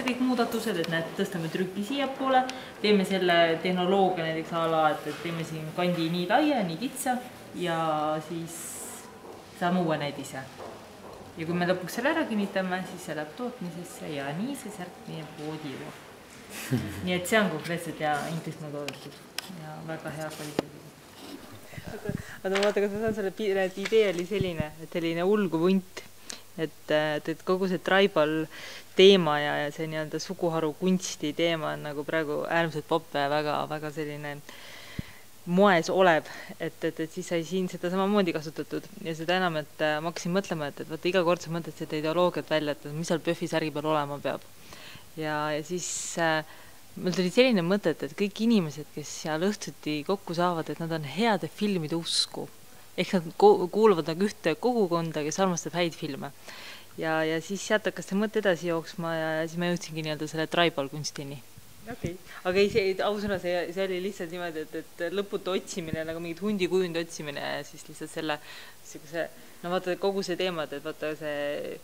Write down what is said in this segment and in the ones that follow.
kõik muudatused, et näed, tõstame trüki siia poole, teeme selle tehnoloogia näiteks ala, et teeme siin kandi nii laia, nii kitsa ja siis saame uue näidise. Ja kui me lõpuks selle ära kinnitame, siis see läheb tootmisesse ja nii see särk meie poodi juba. Nii et see on konkreetselt ja Inglismaa toodetud ja väga hea kvaliteediga. Aga vaata, kas ma saan selle piire, et idee oli selline, et selline ulguv hunt, et kogu see tribal teema ja see nii-öelda suguharu kunsti teema on nagu praegu äärmiselt popp ja väga selline moes olev, et siis sai siin seda samamoodi kasutatud ja seda enam, et ma hakkasin mõtlema, et vaata iga kord sa mõtled seda ideoloogiat välja, et mis seal PÖFFi särgi peal olema peab. Ja siis meil tuli selline mõte, et kõik inimesed, kes seal õhtuti kokku saavad, et nad on heade filmide usku. Ehk nad kuuluvad nagu ühte kogukonda, kes armastab häid filme. Ja siis sealt hakkas see mõte edasi jooksma ja siis ma jõudsingi nii-öelda selle tribal kunstini. Okay. Aga ei, ausõna, see oli lihtsalt niimoodi, et lõputu otsimine, nagu mingid hundikujundi otsimine ja siis lihtsalt selle, no vaata kogu see teemad, et vaata see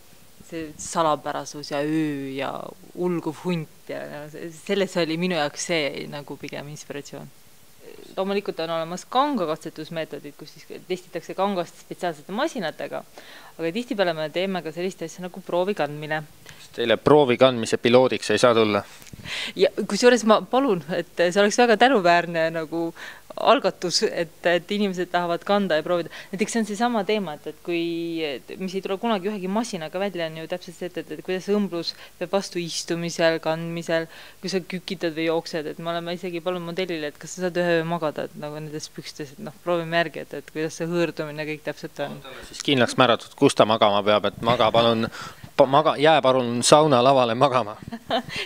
salapärasus ja öö ja ulguv hunt ja selles oli minu jaoks see nagu pigem inspiratsioon. Loomulikult on olemas kangakatsetusmeetodid, kus siis testitakse kangast spetsiaalsete masinatega, aga tihtipeale me teeme ka sellist asja nagu proovi kandmine. Teile proovi kandmise piloodiks ei saa tulla? Ja kusjuures ma palun, et see oleks väga tänuväärne nagu algatus, et inimesed tahavad kanda ja proovida. Näiteks see on see sama teema, et mis ei tule kunagi ühegi masinaga välja, on ju täpselt see, et kuidas õmblus peab vastu istumisel, kandmisel, kui sa kükitad või jooksed, et me oleme isegi palun modellile, et kas sa saad ühe magada, et nagu nendes pükstes, et proovime järgi, et kuidas see hõõrdumine kõik täpselt on. Siis kindlaks määratud, kus ta magama peab, et jää palun sauna lavale magama.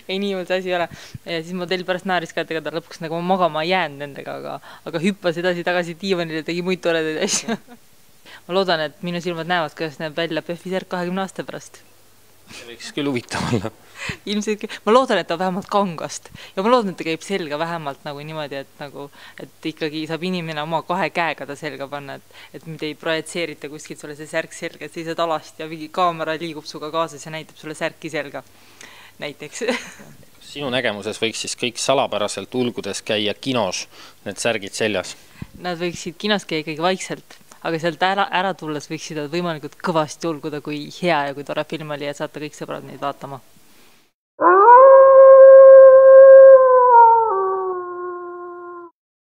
Ei, nii see asi ei ole. Ja siis modell pärast naaris ka, et ega ta lõpuks nagu magama jäänud nendega, aga hüppas edasi tagasi diivanile, tegi muid toredaid asju. Ma loodan, et minu silmad näevad, kuidas näeb välja PÖFFi särk 20 aasta pärast. See võiks küll huvitav olla. Ilmselt, ma loodan, et ta vähemalt kangast ja ma loodan, et ta käib selga vähemalt nagu niimoodi, et ikkagi saab inimene oma 2 käega ta selga panna, et mida ei projitseerita kuskilt sulle see särk selga, et seisad alast ja mingi kaamera liigub suga kaasas ja näitab sulle särki selga näiteks. Sinu nägemuses võiks siis kõik salapäraselt ulgudes käia kinos, need särgid seljas? Nad võiksid kinos käia ikkagi vaikselt, aga sealt ära tulles võiksid nad võimalikult kõvasti ulguda, kui hea ja kui tore film oli ja saata kõik sõbrad neid vaatama.